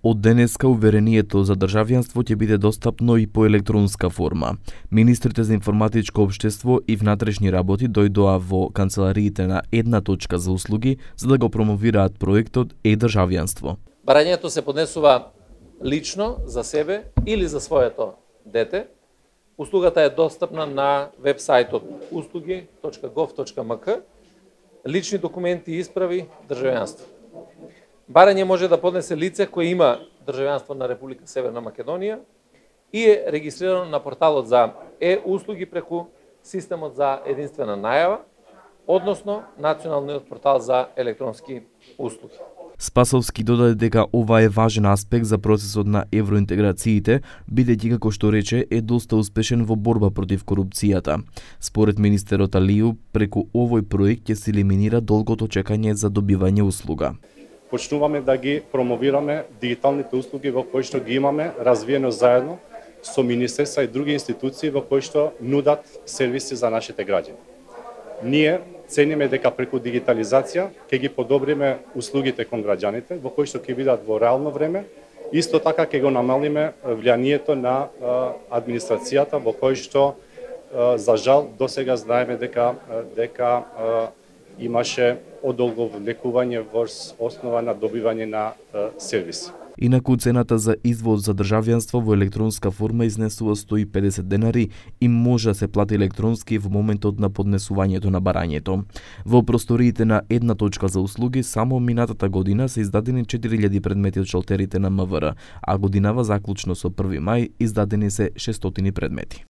Од денеска уверението за државјанство ќе биде достапно и по електронска форма. Министрите за информатичко општество и внатрешни работи дојдоа во канцелариите на една точка за услуги за да го промовираат проектот е-државјанство. Барањето се поднесува лично за себе или за своето дете. Услугата е достапна на веб-сајтот услуги.gov.mk. Лични документи и исправи државјанство. Барање може да поднесе лице кој има државјанство на Република Северна Македонија и е регистрирано на порталот за е-услуги преку системот за единствена најава, односно националниот портал за електронски услуги. Спасовски додаде дека ова е важен аспект за процесот на евроинтеграциите, бидејќи како што рече е доста успешен во борба против корупцијата. Според министерот Алију, преку овој проект ќе се елиминира долгото чекање за добивање услуга. Почнуваме да ги промовираме дигиталните услуги во кои што ги имаме развиено заедно со министерства и други институции во кои што нудат сервиси за нашите граѓани. Ние цениме дека преку дигитализација ќе ги подобриме услугите кон граѓаните, во кои што ќе бидат во реално време, исто така ќе го намалиме влијанието на администрацијата во кој што за жал досега знаеме дека имаше одолговлекување во основа на добивање на сервиси. Инаку цената за извод за државјанство во електронска форма изнесува 150 денари и може да се плати електронски во моментот на поднесувањето на барањето. Во просториите на една точка за услуги само минатата година се издадени 4000 предмети од шалтерите на МВР, а годинава заклучно со 1 мај издадени се 600 предмети.